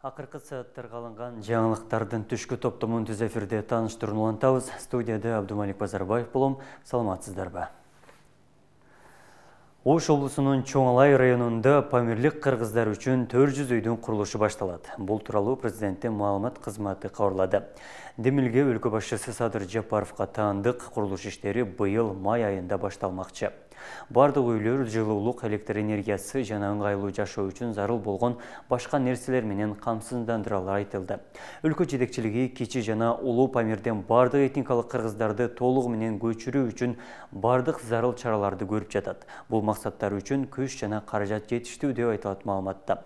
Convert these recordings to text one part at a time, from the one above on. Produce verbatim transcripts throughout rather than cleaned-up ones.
Акыркы сааттарга алынган жаңылыктардын түшкү топтомун түз эфирде тааныштырууну улантабыз. Студияда Абдумалик Базарбаев болом. Саламатсыздарбы? Ош облусунун Чоң Алай районунда памирлик кыргыздар үчүн төрт жүз үйдүн курулушу башталат. Бул тууралуу президенттин маалымат кызматы кабарлады. Демилге өлкө башчысы Садыр Жапаровго таандык курулуш иштери быйыл май айында башталмакчы. Бардык үйлөр жылуулук, электр энергиясы жана ыңгайлуу жашоо үчүн зарыл болгон башка нерселер менен камсыздандырылары айтылды. Өлкө жетекчилиги кичи жана улуу Памирден бардык этникалык кыргыздарды толугу менен көчүрүү үчүн бардык зарыл чараларды көрүп жатат. Бул максаттар үчүн күч жана каражат жетиштүү деп айтылат маалыматта.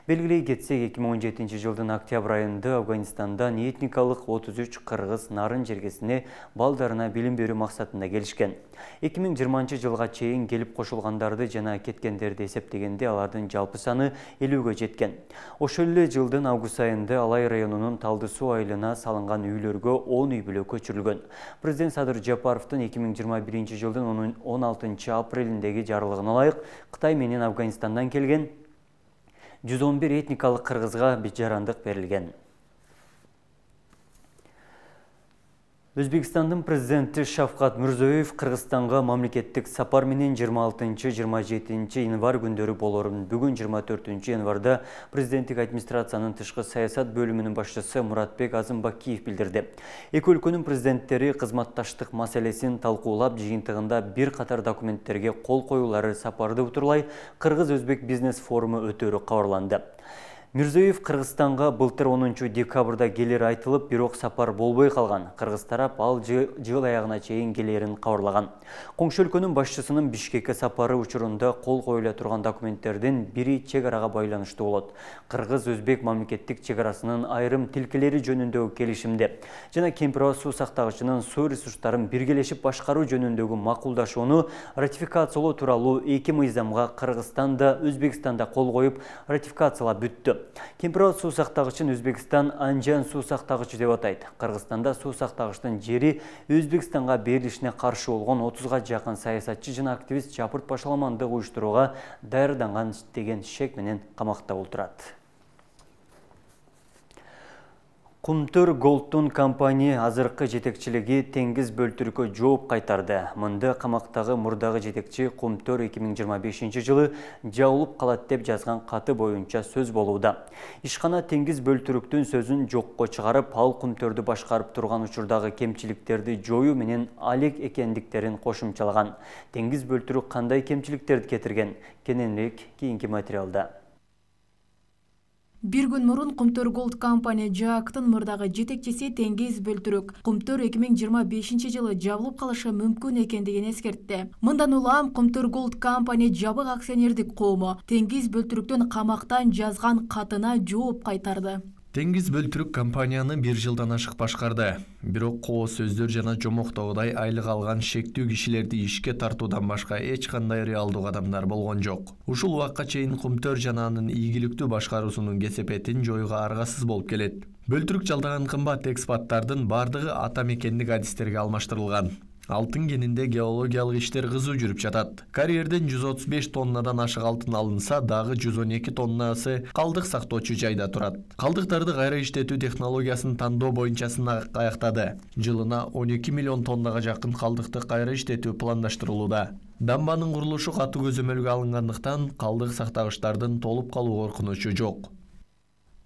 Белгилей кетсек, эки миң он жетинчи жылдын октябрь айында Афганистандан этникалык отуз үч кыргыз Нарын жергесине балдарына билим берүү максатында келишкен. эки миң жыйырманчы жылга чейин келип кошулгандарды жана кеткендерди эсептегенде алардын жалпы саны элүүгө жеткен. Ошол эле жылдын август айында Алай районунун Талды суу айылына салынган үйлөргө он үй бүлө көчүрүлгөн. Президент Садыр Жапаровдун эки миң жыйырма биринчи жылдын он алтынчы апрелиндеги жарлыгына ылайык Кытай менен Афганистандан келген жүз он бир этникалык кыргызга жарандык берилген. Өзбекстандын президенти Шавкат Мирзиёев Кыргызстанга мамлекеттик сапар менен жыйырма алтынчы жыйырма жетинчи январь күндөрү болорун. Бүгүн жыйырма төртүнчү январда президенттик администрациянын тышкы саясат бөлүмүнүн башчысы Муратбек Азымбакиев билдирди. Эки өлкөнүн президенттери кызматташтык маселесин талкуулап, жыйынтыгында бир катар документтерге кол коюулары сапарды утурлай Кыргыз-Өзбек бизнес форуму өтөрү кабарланды. Мирзиёев Кыргызстанга былтыр онунчу декабрда келери айтылып, бирок сапар болбой калган. Кыргыз тарап ал жыл аягына чейин келерин кабарлаган. Коңшу өлкөнүн башчысынын Бишкекке сапары учурунда кол коюла турган документтердин бири чек арага байланыштуу болот. Кыргыз-Өзбек мамлекеттик чек арасынын айрым тилкелери жөнүндөгү келишимде жана Кемпир суу сактагычынын суу ресурстарын биргелешип башкаруу жөнүндөгү макулдашууну ратификациялоо тууралуу эки мыйзамга Кыргызстан да Өзбекстан да кол коюп ратификациялап бүттү. Кемпир суу сактагычын Өзбекстан Анжан суу сактагычы деп атайт. Кыргызстанда суу сактагычтын жери Өзбекстанга берилишине каршы болгон отузга жакын саясатчы жана активист Жапырт башаламандык уюштурууга даярданган деген шек менен камакта отурат. Кумтөр Голдтун компания азыркы жетекчилиги Теңиз Бөлтүрккө жооп кайтарды. Мында камактагы мурдагы жетекчи Кумтөр эки миң жыйырма бешинчи жылы жабылып калат деп жазган каты боюнча сөз болууда. Ишкана Теңиз Бөлтүрктүн сөзүн жокко чыгарып, ал Кумтөрдү башкарып турган учурдагы кемчиликтерди жоюу менен алек экендиктерин кошумчалаган. Теңиз Бөлтүрк кандай кемчиликтерди кетирген? Кененирээк кийинки материалда. Бир күн мурун Кумтөр Голд компания жаактын мурдагы жетекчиси Теңиз Бөлтүрк Кумтөр эки миң жыйырма бешинчи жылы жабылып калышы мүмкүн экендигин эскертти. Мындан улам Кумтөр Голд компания жабык акционердик коому Теңиз Бөлтүрктүн камактан жазган катына жооп кайтарды. Теңиз Бөлтүрк компанияны бир жылдан ашык башкарды. Бирок коо сөздөр жана жомоктогудай айлык алган шектүү кишилерди ишке тартуудан башка эч кандай реалдуу кадамдар болгон жок. Ушул убакка чейин Кумтөр жана анын ийгиликтүү башкаруусунун кесепетин жоюуга аргасыз болуп келет. Бөлтүрк жалдаган кымбат экспаттардын бардыгы ата мекендик адистерге алмаштырылган. Алтын кенинде геологиялык иштер кызуу жүрүп жатат. Карьерден жүз отуз беш тоннадан ашык алтын алынса, дагы жүз он эки тоннасы калдык сактоочу жайда турат. Калдыктарды кайра иштетүү технологиясын тандоо боюнча сынак аяктады. Жылына он эки миллион тоннага жакын калдыкты кайра иштетүү пландаштырылууда. Дамбанын курулушу катуу көзөмөлгө алынгандыктан калдык сактагычтардын толуп калуу коркунучу жок.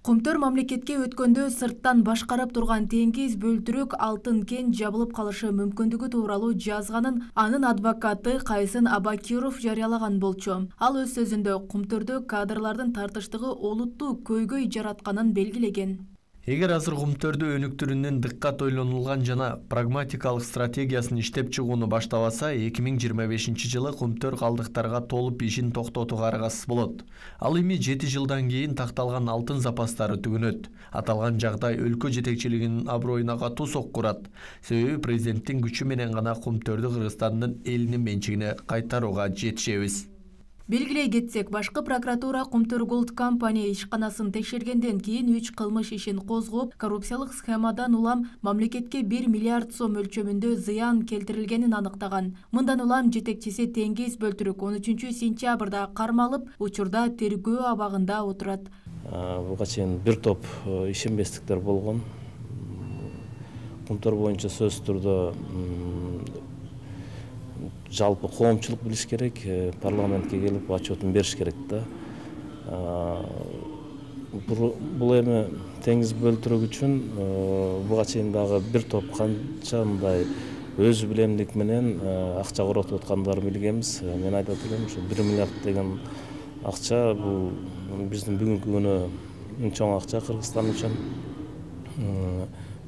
Кумтөр мамлекетке өткөндө сырттан башкарып турган Теңиз Бөлтүрк алтын кен жабылып калышы мүмкүндүгү тууралуу жазганын анын адвокаты Кайсын Абакиров жарыялаган болчу. Ал өз сөзүндө Кумтөрдө кадрлардын тартыштыгы олуттуу көйгөй жаратканын белгилеген. Эгер азыр Кумтөрдү өнүктүрүүнүн дыккат ойлонулган жана прагматикалык стратегиясын иштеп чыгууну баштабаса, эки миң жыйырма бешинчи жылы Кумтөр калдыктарга толуп ишин токтотууга аргасыз болот. Ал эми жети жылдан кийин такталган алтын запастары түгөнөт. Аталган жагдай өлкө жетекчилигинин аброюна катуу сокку урат. Себеби президенттин күчү менен гана Кумтөрдү Кыргызстандын элинин менчигине кайтарууга жетишебиз. Белгилей кетсек, башкы прокуратура Кумтөр Голд компания ишканасын текшергенден кийин үч кылмыш ишин козгоп, коррупциялык схемадан улам мамлекетке бир миллиард сом өлчөмүндө зыян келтирилгенин аныктаган. Мындан улам жетекчиси Теңиз Бөлтүрк он үчүнчү сентябрда кармалып, учурда тергөө абагында отурат. Буга чейин бир топ ишенбестиктер болгон. Кумтөр боюнча сөзсүз түрдө жалпы коомчулук билиш керек, парламентке келип отчетун бериш керек да. Бул эми теңиз бөлтүрүк үчүн буга чейин дагы бир топ канча мындай өз билемдик менен акча коротуп аткандарын билгенбиз. Мен айтат элем, ушу бир миллиард деген акча бул биздин бүгүнкү күнү эң чоң акча Кыргызстан үчүн.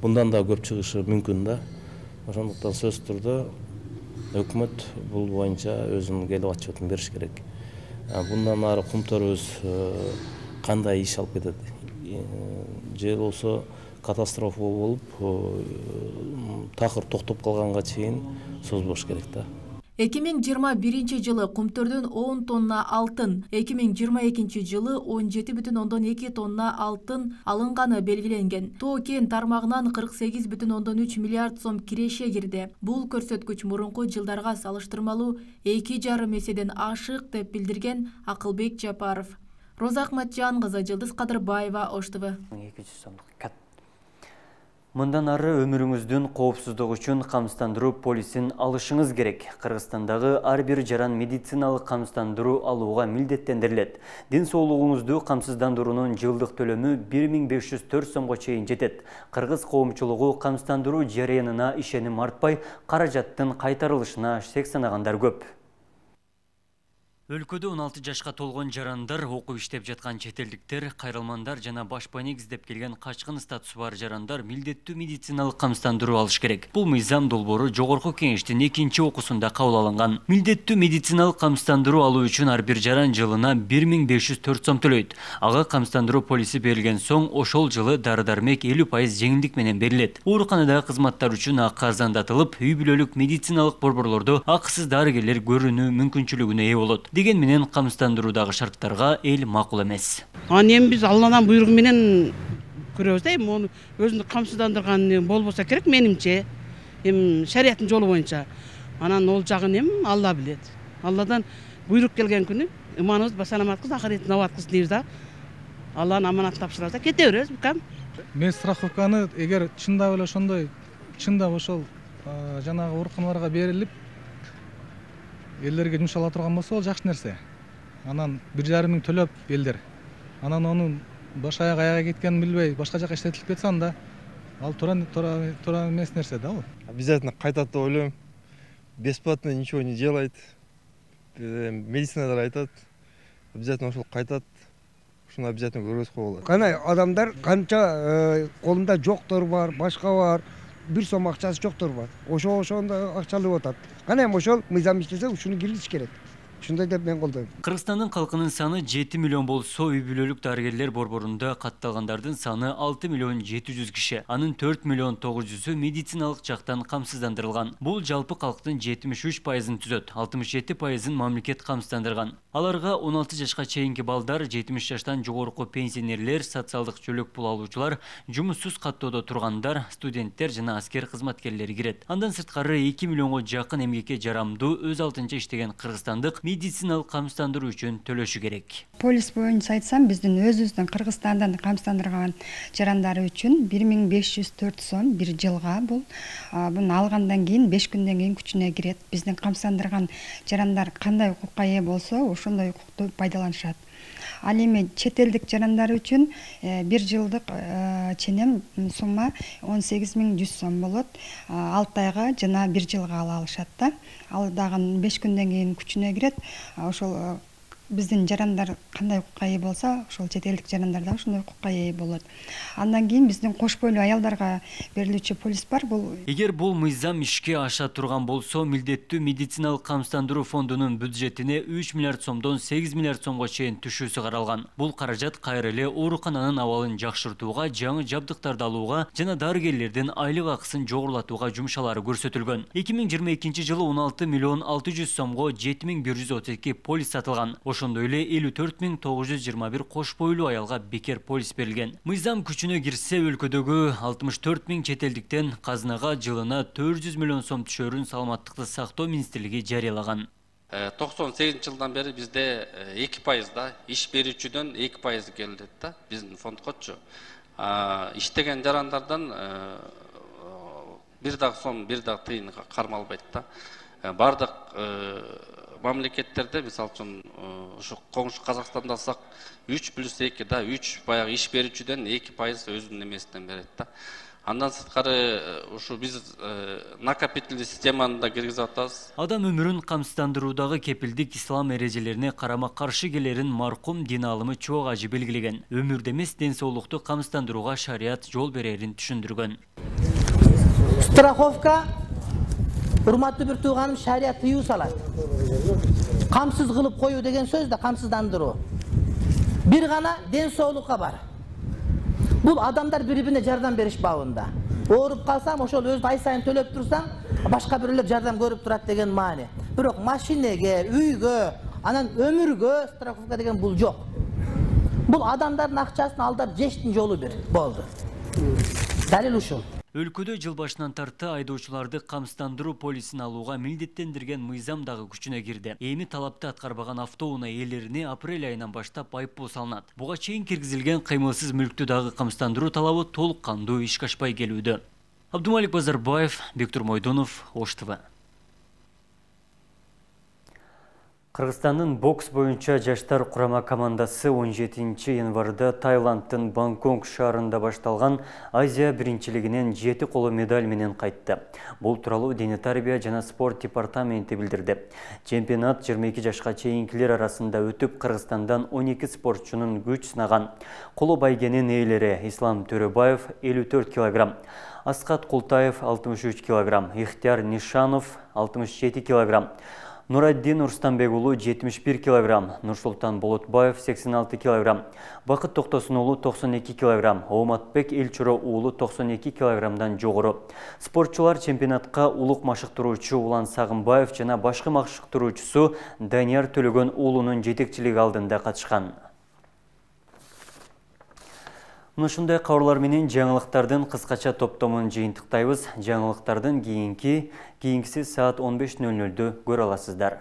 Bundan da көп чыгышы мүмкүн да. Ошондуктан сөзсүз түрдө өкмөт бул боюнча өзүнүн келип отчетун бериш керек. Bundan ары Кумтөрүбүз кандай иш алып кетет? Же болсо катастрофа болуп, такыр токтоп калганга чейин созбош керек да. эки миң жыйырма биринчи жылы Кумтөрдөн он тонна алтын, эки миң жыйырма экинчи жылы он жети бүтүн ондон эки тонна алтын алынганы белгиленген. Тоо кен тармагынан кырк сегиз бүтүн ондон үч миллиард сом киреше кирди. Бул көрсөткүч мурунку жылдарга салыштырмалуу эки жарым эседен ашык деп билдирген Акылбек Жапаров. Роза Акматжан кызы, Жылдыз Кадырбаева, Ош ТВ. Мындан ары өмүрүңүздүн коопсуздугу үчүн камсыздандыруу полисин алышыңыз керек. Кыргызстандагы ар бир жаран медициналык камсыздандыруу алууга милдеттендирилет. Ден соолугуңузду камсыздандыруунун жылдык төлөмү бир миң беш жүз төрт сомго чейин жетет. Кыргыз коомчулугу камсыздандыруу жарыянына ишеним артпай, каражаттын кайтарылышына шек санагандар көп. Өлкөдө он алты жашка толгон жарандар, окуп иштеп жаткан чет элдиктер, кайрылмандар жана башпайнек издеп келген качкын статусу бар жарандар милдеттүү медициналык камсыздандыруу алыш керек. Бул мыйзам долбоору Жогорку Кеңештин экинчи окуусунда кабыл алынган. Милдеттүү медициналык камсыздандыруу алуу үчүн ар бир жаран жылына бир миң беш жүз төрт сом төлөйт. Ага камсыздандыруу полиси берилген соң, ошол жылы дары-дармек элүү пайыз жеңилдик менен берилет. Ооруканадагы кызматтар үчүн акы арзандатылып, үй бүлөлүк медициналык борборлордо акысыз дарыгерлер көрүүнү мүмкүнчүлүгүнө ээ болот. Деген менен камсыздандыруудагы шарттарга эл макул эмес. Аны эми биз Алладан буйругу менен көрөбүз да, эми ону өзүндү камсыздандырган болбосо керек менимче. Эми шариаттын жолу боюнча. Анан ол жагын эми Алла билет. Алладан буйрук келген күнү иманыбыз басаламаткыз, ахиреттин абаткыз дейбиз да. Алланын аманатын тапшырабыз да, кете беребиз букам. Мен страховканы эгер чындап эле ошондой, чындап ошол жанагы ооруканаларга берилип элдерге жумшала турган болсо, ол жакшы нерсе. Анан бир жарым миң төлөп элдер. Анан онун баш аяк аяга кеткенин билбей, башка жака иштетилип кетсе анда ал туура туура эмес нерсе да бул. Обязательно кайтат деп ойлойм. Бесплатно ничего не делает. Медицинадар айтат. Обязательно ошол кайтат. Ушуну обязательно көргөзүп коюлат. Кана адамдар канча колунда жоктор бар, башка бар. Бир сом акчасы жоктор бар. Ошо ошондо акча алып атат. Кана эми ошол мыйзам иштесе, ушуну киргизиш керек. Ушундай деп мен колдойм. Кыргызстандын калкынын саны жети миллион болсо, үй бүлөлүк дарыгерлер борборунда катталгандардын саны алты миллион жети жүз киши. Анын төрт миллион тогуз жүзү медициналык жактан камсыздандырылган. Бул жалпы калктын жетимиш үч пайызын түзөт. алтымыш жети пайызын мамлекет камсыздандырган. Аларга он алты жашка чейинки балдар, жетимиш жаштан жогорку пенсионерлер, социалдык жөлөк пул алуучулар, жумуссуз каттоодо тургандар, студенттер жана аскер кызматкерлери кирет. Андан сырткары эки миллионго жакын эмгекке жарамдуу өз алдынча иштеген кыргызстандык медициналык камсыздандыруу үчүн төлөшү керек. Полис боюнча айтсам, биздин өзүбүздүн Кыргызстандан камсыздандырган жарандары үчүн бир миң беш жүз төрт сом бир жылга. Бул буну алгандан кийин беш күндөн кийин күчүнө кирет. Биздин камсыздандырган жарандар кандай укукка ээ болсо, ошондой укукту пайдаланышат. Ал эми чет элдик жарандар үчүн бир жылдык ченем сумма он сегиз миң жүз сом болот. алты айга жана бир жылга ала алышат да. Ал дагы беш күндөн кийин күчүнө кирет. Ошол биздин жарандар кандай укукка ээ болсо, ошол чет элдик жарандар да ошондой укукка ээ болот. Андан кийин биздин кош бойлуу аялдарга берилүүчү полис бар. Бул эгер бул мыйзам ишке аша турган болсо, милдеттүү медициналык камсыздандыруу фондунун бюджетине үч миллиард сомдон сегиз миллиард сомго чейин түшүүсү каралган. Бул каражат кайра эле оорукананын абалын жакшыртууга, жаңы жабдыктарды алууга жана дарыгерлердин айлык акысын жогорулатууга жумшалары көрсөтүлгөн. эки миң жыйырма экинчи жылы он алты миллион алты жүз сомго жети миң бир жүз отуз эки полис сатылган. Ошондой эле элүү төрт миң тогуз жүз жыйырма бир кош бойлуу аялга бекер полис берилген. Мыйзам күчүнө кирсе, өлкөдөгү алтымыш төрт миң чет элдиктен казынага жылына төрт жүз миллион сом түшөрүн Саламаттыкты сактоо министрлиги жарыялаган. токсон сегизинчи жылдан бери бизде эки пайызда иш берүүчүдөн эки пайыз келет да биздин фондкочу. Иштеген жарандардан бир дагы сом, бир дагы тыйын кармалбайт да. Бардык мамлекеттерде, мисалы үчүн ушу коңшу Казакстанда алсак, үч плюс эки да, үч баягы иш берүүчүдөн эки пайыз өзүнүн эмесинен берет да. Андан сырткары ушу биз накопительный системаны да киргизип атабыз. Адам өмүрүн камсыздандыруудагы кепилдик ислам эрежелерине карама каршы келерин маркум дин алымы чоң ажы белгилеген. Өмүрдө эмес ден соолукту камсыздандырууга шарият жол берерин түшүндүргөн. Страховка, урматтуу бир тууганым, шарият тыюу салат. Камсыз кылып коюу деген сөз да камсыздандыруу. Бир гана ден соолукка бар. Бул адамдар бири-бирине жардам бериш бабында. Ооруп калсам, ошол өзү ай сайын төлөп турсаң, башка бирлер жардам көрүп турат деген маани. Бирок машинеге, үйгө, анан өмүргө страховка деген бул жок. Бул адамдардын акчасын алдап жештин жолу бир болду. Далил ушул. Өлкөдө жыл башынан тарты айдоочуларды камсыздандыруу полисин алууга милдеттендирген мыйзам дагы күчүнө кирди. Эми талапты аткарбаган автоунаа ээлерине апрель айынан баштап айыппул салынат. Буга чейин киргизилген кыймылсыз мүлктү дагы камсыздандыруу талабы толук кандуу ишке ашпай келүүдө. Абдумалик Базарбаев, Бектур Мойдонов, Ош ТВ. Кыргызстандын бокс боюнча жаштар курама командасы он жетинчи январда Таиланддын Бангкок шаарында башталган Азия биринчилигинен жети коло медаль менен кайтты. Бул тууралуу Дене тарбия жана спорт департаменти билдирди. Чемпионат жыйырма эки жашка чейинкилер арасында өтүп, Кыргызстандан он эки спортчунун күч сынаган. Коло байгенин ээлери Ислам Төрөбаев элүү төрт килограмм, Аскат Култаев алтымыш үч килограмм, Ихтияр Нишанов алтымыш жети килограмм, Нураддин Урстанбек уулу жетимиш бир килограмм, Нурсултан Болотбаев сексен алты килограмм, Бакыт Токтосун уулу токсон эки килограмм, Ооматбек Элчуро уулу токсон эки килограммдан жогору. Спортчулар чемпионатка улук машыктыруучу Улан Сагынбаев жана башкы машыктыруучусу Данияр Төлөгөн уулунун жетекчилиги алдында катышкан. Ушундай кабарлар менен жаңылыктардын кыскача топтомун жыйынтыктайбыз. Жаңылыктардын кийинки кийинкиси саат он беш нөл нөлдө көрө аласыздар.